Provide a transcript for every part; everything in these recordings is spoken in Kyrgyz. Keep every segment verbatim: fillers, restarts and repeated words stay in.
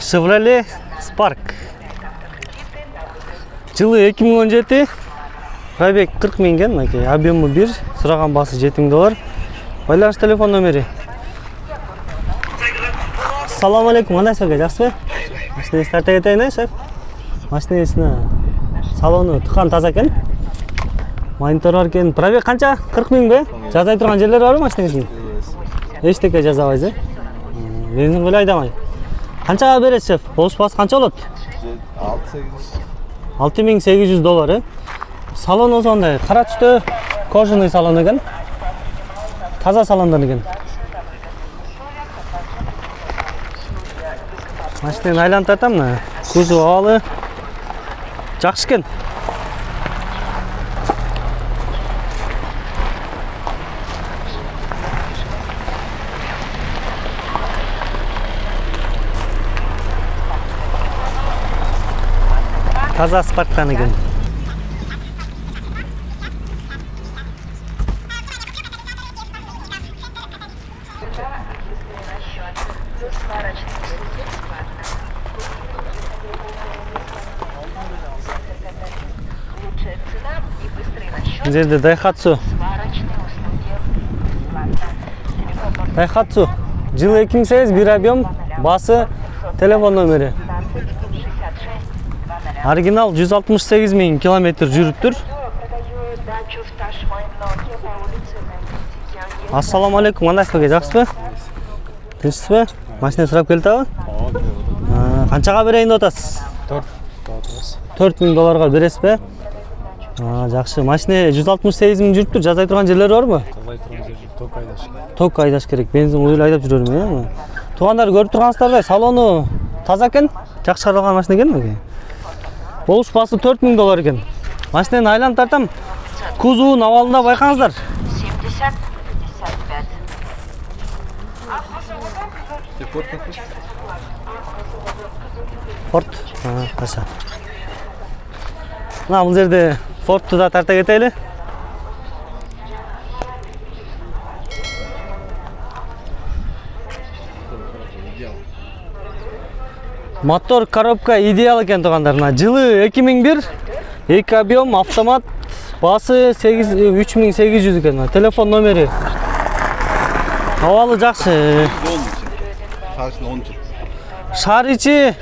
Chevrolet Spark. Жылы эки миң он жети. Пробег кырк миң экен, мынакей. Объему бир, сураган баасы жети миң доллар. Байланыш телефон номери. Ассаламу алейкум, кандайсыз ака, жакшысызбы? Машинаңызды тарта кетейин, шеф. Машинаңыздын салону тыкан таза экен. Монитор бар экен. Пробег канча? кырк миң бе? Жазай турган жерлер барбы машинаңыздын? Эчтеке жазабайсыз, э? Бензин көлөй айдамай. Канчага бересиз, шеф? Болушпасы канча болот? алты миң сегиз жүз доллар, э? Салон болсо андай кара түстө, кожаный салон экен. Таза салондан экен. Машинаны айланып тартам, мына. Кузов абалы жакшы экен. Таза Спарктан экен. Бұл жерде Daihatsu. Daihatsu. Жылы эки миң сегиз, бир объем, басы, телефон номери. Оригинал жүз алтымыш сегиз миң километр жүрүптүр. Ассаламу алейкум, кандайсыз ака, жакшысызбы? Тынчсызбы? Машина сурап келдиби? Канчага берейин деп атасыз? төрт миң долларга бересизби? Жакшы. Машина жүз алтымыш сегиз миң жүрүптүр. Жазай турган жерлери барбы? Жазай турган жер жок, ток айдаш керек. Ток айдаш керек. Бензин уюл айдап жүрөрмүн, э? Туугандар көрүп тургансыздардай, салону таза экен. Жакшы чыгарылган машина экен. Болуш баасы төрт миң доллар экен. Машинаны айланып тартам. Кузовун абалында байкаңыздар. Форд. Таша. Мына бул жерде Фордту да тарта кетели. Мотор, коробка идеал экен туугандар. Жылы эки миң бир, эки объем, автомат, басы үч миң сегиз жүз экен. Телефон номери. Абалы жакшы. Шаар ичи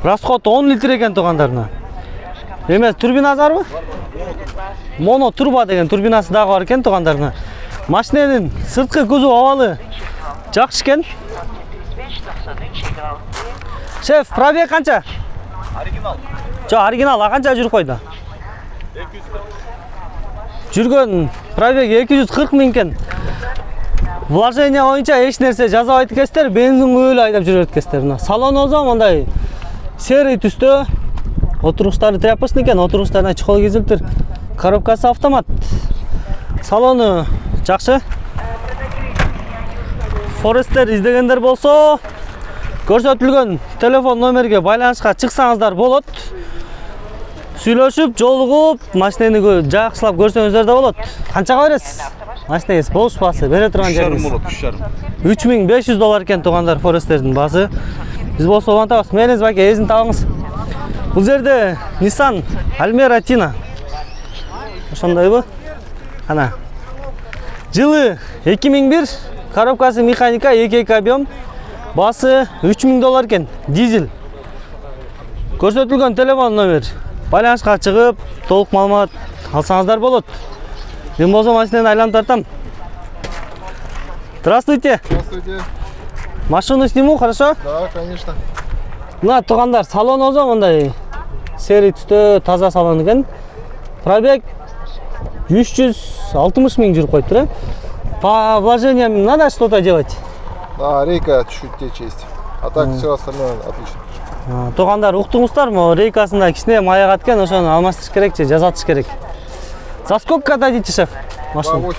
расход он литр экен туугандар. Эмес, турбинасы барбы? Моно турба деген турбинасы дагы бар экен туугандар. Машинанын сырткы кузов абалы жакшы экен. Шеф, пробег канча? Оригинал. Жо, оригинал, а канча жүрүп койду? эки жүз кырк. Жүргөн пробег эки жүз кырк миң экен. Вложение боюнча эч нерсе жазабайт экенсиздер, бензин күйүлүп айдап жүрөт экенсиздер. Салон болсо мындай серый түстө. Отургучтары тряпочный экен, отургучтарына чехол кийилиптир. Коробкасы автомат. Салону жакшы. Forester издегендер болсо, көрсөтүлгөн телефон номерге байланышка чыксаңыздар болот. Сүйлөшүп, жолугуп, машинаны жакшылап көрсөңүздөр да болот. Канчага бересиз? Машинаңыз болуш баасы бере турган жериңиз. үч миң беш жүз доллар экен туугандар Forester'дин баасы. Биз болсо улантабыз. Мениңиз баке, эзин табыңыз. Бул жерде Nissan Almera Tina. Ошондойбу? Ана. Жылы эки миң бир, коробкасы механика, эки объем, басы үч миң доллар экен, дизель. Көрсөтүлгөн телефон номер. Байланышка чыгып, толук маалымат алсаңыздар болот. Мен болсо машинаны айланып тартам. Здравствуйте. Здравствуйте. Машину сниму, хорошо? Да, конечно. Мына туугандар, салон болсо мындай серый түстө таза салон экен. Пробег үч жүз алтымыш миң жүрүп коюптур, э? По вложениям надо что-то делать? Да, рейка чуть-чуть течь есть. А так все остальное отлично. Туугандар, уктуңуздар, могу рейкасында кичине мая каткен, ошону алмаштырыш керек же жазатыш керек. За сколько дадите, шеф? Машина.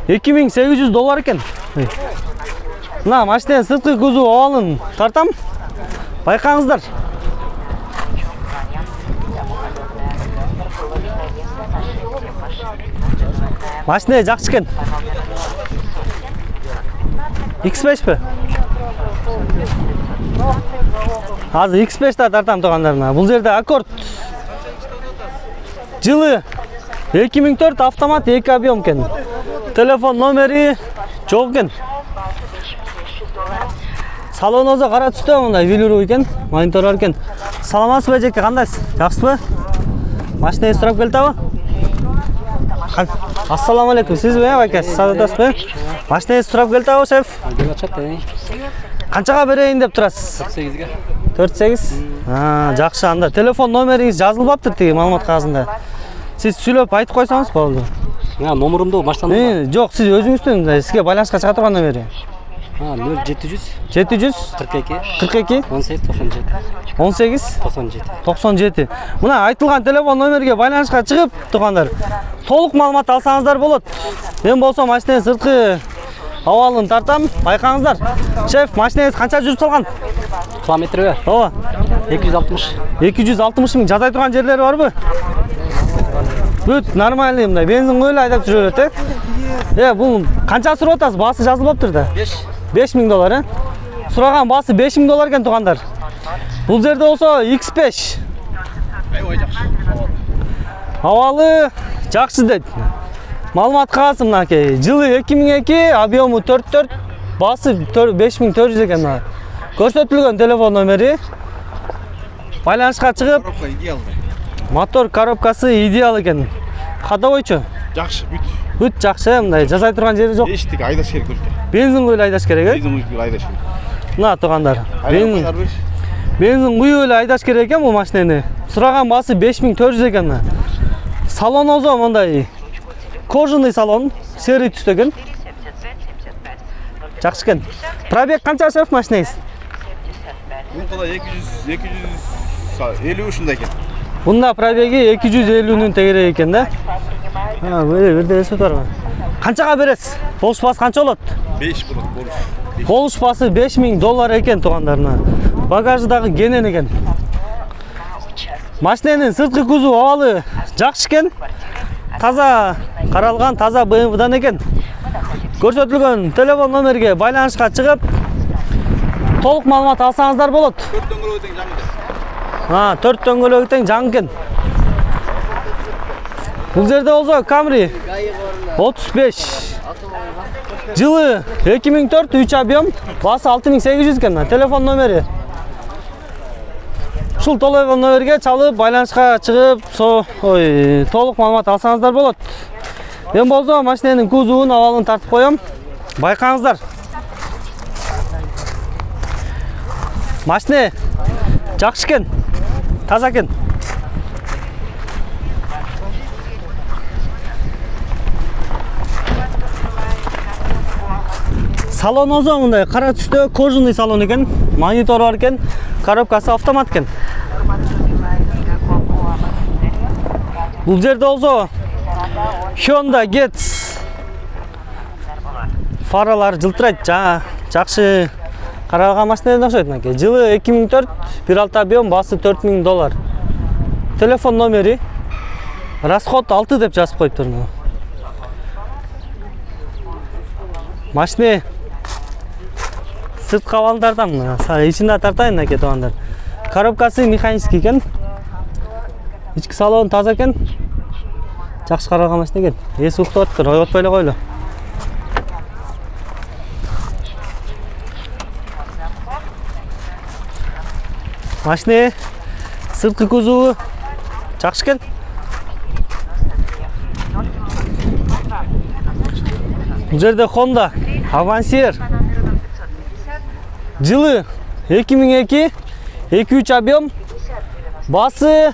эки миң сегиз жүз доллар экен. Мына машинанын сырткы кузов абалын тартам. Байкаңыздар. Машина жакшы экен. икс беш пе? Азыр икс беш та тартам туугандар мына. Бул жерде Аккорд. Жылы эки миң төрт автомат эки объем экен. Телефон номери жок экен. Салон өзү кара түстө мындай велюр экен, монитор бар экен. Саламатсызбы эжеке, кандайсыз? Жакшысызбы? Машинаңыз сурап келдиби? Ассаламу алейкум. Сизби, байке? Саатасызбы? Машинаңыз сурап келдиби, шеф? Келип атат, э. Канчага берейин деп турасыз? төрт сегизге. төрт сегиз? А, жакшы. Анда телефон номериңиз жазылбаптыр тиги маалымат кагазында. Сиз сүйлөп айтып койсоңуз болду. А, номерумду баштан Э, жок, сиз өзүңүздүн сизге байланышка чыга турган номери. А, нөл жети жүз жети жүз кырк эки кырк эки он сегиз токсон жети. он сегиз токсон жети. токсон жети. Мына айтылган телефон номерге байланышка чыгып, туугандар, толук маалымат алсаңыздар болот. Мен болсо машинанын сырткы абалын тартам, байкаңыздар. Шеф, машинаңыз канча жүрүп салган? Километрби? Ооба. эки жүз алтымыш. эки жүз алтымыш миң жазай турган жерлери барбы? Бүт нормальный мындай бензин коюп эле айдап жүрө берет, э. Э, бул канча сурап атасыз? Баасы жазылбаптыр да. беш. беш миң доллар, э? Сураган баасы беш миң доллар экен, туугандар. Бул жерде болсо икс беш. Аябай жакшы. Абалы жакшы дейт. Маалымат кагазы мынакей. Жылы эки миң эки, объему төрт төрт, баасы беш миң төрт жүз экен. Көрсөтүлгөн телефон номери. Байланышка чыгып, Коробка идеалный. мотор коробкасы идеал экен. Ходовойчу? Жакшы, бүт. Бүт жакшы, мындай жазай турган жери жок. Эчтик айдаш керек өлкө. Бензин куюп айдаш керек, э? Бензин куюп айдаш керек. Мына туугандар. Бензин Айланып бериш. Бензин куюп эле айдаш керек экен бул машинени. Сураган баасы беш миң төрт жүз экен. Салон өзү мындай кожаный салон, серый түстө экен. Жакшы экен. Пробег канча шеф машинеңиз? Бунда эки жүз эки жүз элүү ушундай экен. Бунда пробеги эки жүз элүүнүн тегерек экен да. А, бир бирде эсеп барбы? Канчага бересиз? Болушпасы канча болот? беш болот, болуш. Болушпасы беш миң доллар экен туугандарына. Багажы дагы кенен экен. Машиненин сырткы кузу абалы жакшы экен. Таза каралган, таза бэ эм вэдан экен. Көрсөтүлгөн телефон номерге байланышка чыгып, толук маалымат алсаңыздар болот. төрт дөңгөлөк тең жаңы. А, төрт дөңгөлөгү тең жаңы экен. Бул жерде болсо Camry отуз беш. Жылы эки миң төрт, үч объем, баасы алты миң сегиз жүз экен. Телефон номери. Ушул телефон номерге чалып, байланышка чыгып, со, ой, толук маалымат алсаңыздар болот. Мен болсо машиненин кузуун, абалын тартып коем. Байкаңыздар. Машина жакшы экен. Таза экен. Салон өзү мындай кара түстө кожаный салон экен. Монитор бар экен. Коробкасы автомат экен. Бул жерде болсо Honda Getz фаралар жылтырайт. Жакшы каралган машинеден окшойт мынакей. Жылы эки миң төрт, бир алты объем, баасы төрт миң доллар. Телефон номери. Расход алты деп жазып коюптур. Машина сырткы абалын тартам. Ичинде тартайын мынакей туугандар. Коробкасы механический экен. Ички салон таза экен. Жакшы каралган машина экен. Эси уктап атыптыр, ойготпой эле койлу. Машина сырткы кузову жакшы экен. Бул жерде Honda Avansier. Жылы эки миң эки, эки үч объем, баасы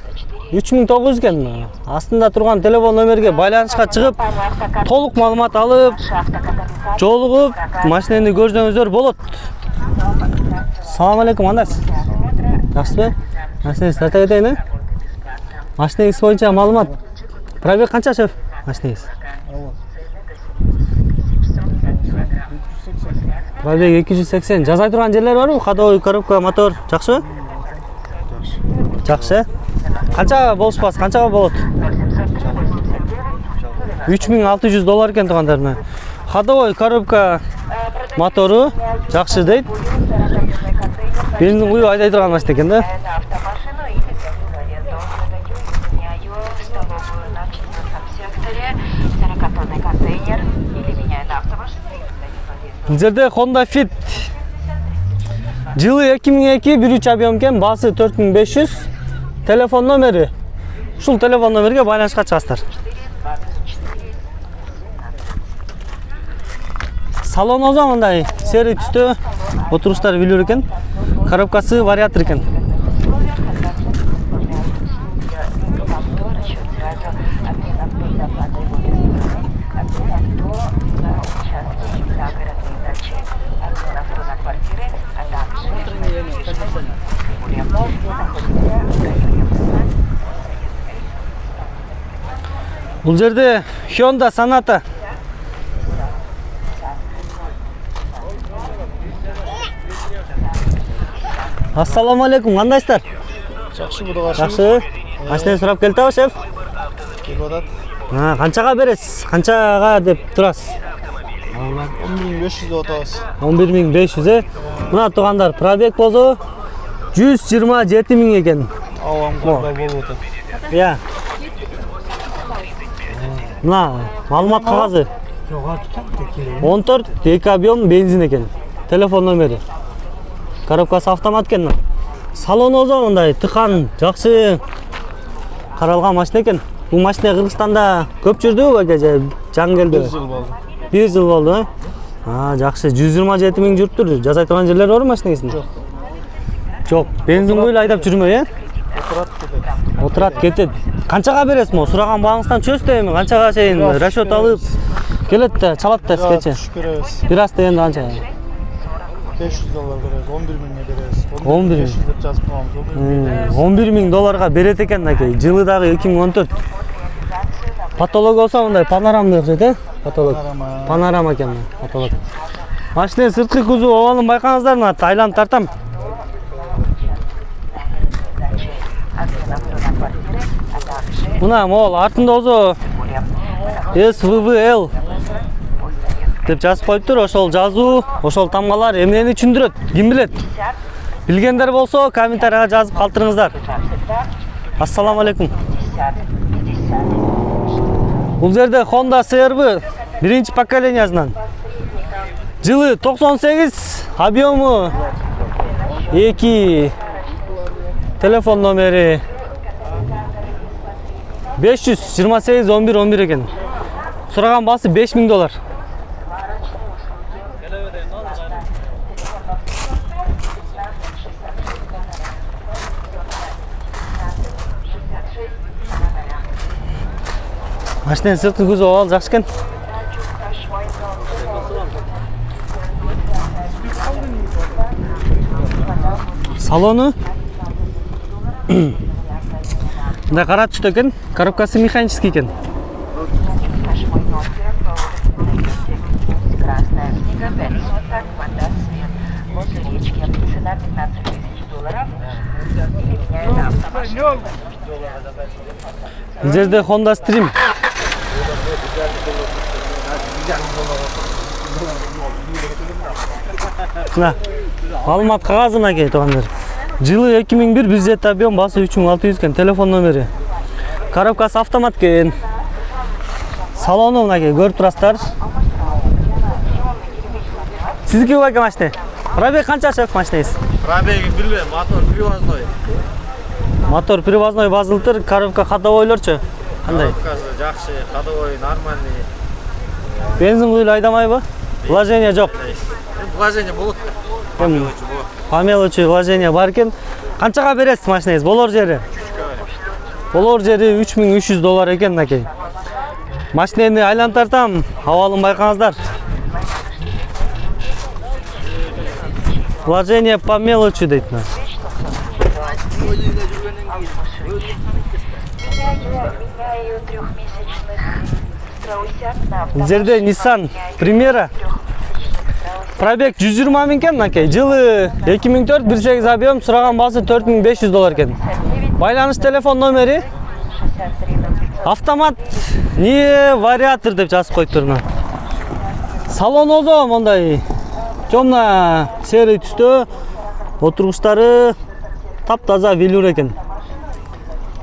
үч миң тогуз жүз экен. Астында турган телефон номерге байланышка чыгып, толук маалымат алып, жолугуп, машинени көрсөңүздөр болот. Салам алейкум, кандайсыз? Жакшысызбы? Машинеңизди тарта кетейин, э? Машинеңиз боюнча маалымат. Пробег канча шеф? Машинеңиз? Пробег эки жүз сексен. Жазай турган жерлер барбы? Ходовой, коробка, мотор жакшыбы? Жакшы. Канча болушпасы, канчага болот? үч миң алты жүз доллар экен туугандар. Ходовой, коробка, мотору жакшы дейт. Бензин куюп айдай турган машина экен да. Бул жерде Honda Fit жылы эки миң эки бир үч объем экен, баасы төрт миң беш жүз. Телефон номери. Ушул телефон номерге байланышка чыгасыздар. Салон озо мындай серый түстө, отуруштар билер экен. Коробкасы вариатор экен. Бул жерде Honda Sonata. Ассаламу алейкум, кандайсыздар? Жакшы, Кудайга Жакшы. Машинаны сурап келдиби, шеф? келип атат. А, канчага бересиз? Канчага деп турасыз? он миң беш жүз деп атабыз. он бир миң беш жүз. Мына туугандар, пробег болсо жүз жыйырма жети миң экен. Авамгарда болуп атат. Иә. Мына маалымат кагазы. он төрт эки объем бензин экен. Телефон номери. Коробкасы автомат экен. Салон озо мындай тыкан, жакшы каралган машина экен. Бул машина Кыргызстанда көп жүрдүбү баке же жаңы келди? бир жыл болду. бир жыл болду, э? А, жакшы. жүз жыйырма жети миң жүрүптүр. Жасай турган жерлер барбы машинеңиздин? Жок. Жок. Бензин куюп айдап жүрмөй, э? Отурат кетет. Отурат кетет. Канчага бересиз мо? Сураган багыңыздан чөз дейм. Канчага чейин расчет алып келет да, чалат да скече. Түшүп беребиз. Бир аз дегенде канча? беш жүз доллар беребиз, он бир миңге беребиз. он бир беш жүз деп жазып коебуз. он бир миң долларга берет экен аке. Жылы дагы эки миң он төрт. Потолок болсо мындай панорамный окшойт, э? Потолок. Панорама. Панорама экен потолок. Машинанын сырткы кузу обалын байкаңыздар, мына айланып тартам. Мына мол артында озо эс вэ вэ эл деп жазып коюптур. Ошол жазуу, ошол тамгалар эмнени түшүндүрөт? Ким билет? Билгендер болсо комментарийга жазып калтырыңыздар. Ассаламу алейкум. Бул жерде Honda си эр ви биринчи поколениясынан. Жылы токсон сегиз, объему эки. Телефон номери беш жүз жыйырма сегиз он бир он бир экен. Сураган баасы беш миң доллар. Машинанын сырткы көзү абал жакшы экен. Салону мындай кара түстө экен. Коробкасы механический экен. Бул жерде Honda Stream. Мына маалымат кагазы мынакей туугандар. Жылы эки миң бир, бир жети объем, баасы үч миң алты жүз экен. Телефон номери. Коробкасы автомат экен. Салону мынакей көрүп турасыздар. Сиздики баке машина? Пробег канча шеф машинаңыз? Пробеги билбейм, мотор привозной. Мотор привозной базылтыр, коробка ходовойлорчу. Кандай? Коробкасы жакшы, ходовой нормальный. Бензин куюп айдамайбы? Вложение жок. Вложение болот. По мелочи вложение бар экен. Канчага бересиз машинаңыз? Болор жери? Болор жери үч миң үч жүз доллар экен мынакей. Машинени айланып тартам, абалын байкаңыздар. Вложение по мелочи дейт. Бул жерде Nissan Primera. Пробег жүз жыйырма миң экен мынакей. Жылы эки миң төрт, бир сегиз объем, сураган баасы төрт миң беш жүз доллар экен. Байланыш телефон номери автомат не вариатор деп жазып коюптур. Салон озо мондай темно серый түстө. Отургучтары таптаза велюр экен.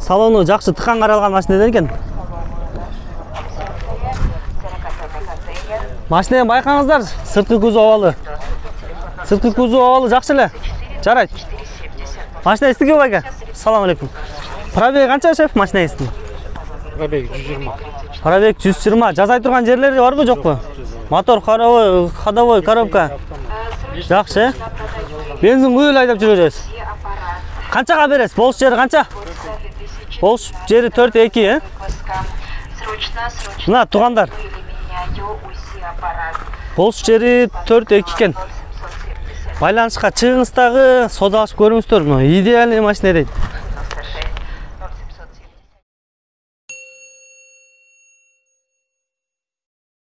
Салону жакшы тыкан каралган машина экен. Машинаны байкаңыздар, сырткы кузов абалы. Сырткы кузов абалы жакшы эле. Жарайт. Машина эстиги байка. Салам алейкум. Пробег канча шеф машинаңыздын? Пробег жүз жыйырма. Пробег жүз жыйырма. Жасай турган жерлери барбы, жокпу? Мотор ходовой, ходовой коробка. Жакшы. Бензин куюп айдап жүрөбүз. Канчага бересиз? Болуш жери канча? Болуш жери төрт эки, э? Мына туугандар. Болуш жери төрт эки экен. Байланышка чыгыңыз дагы, содалашып көрүңүздөр. Идеальный машина дейт.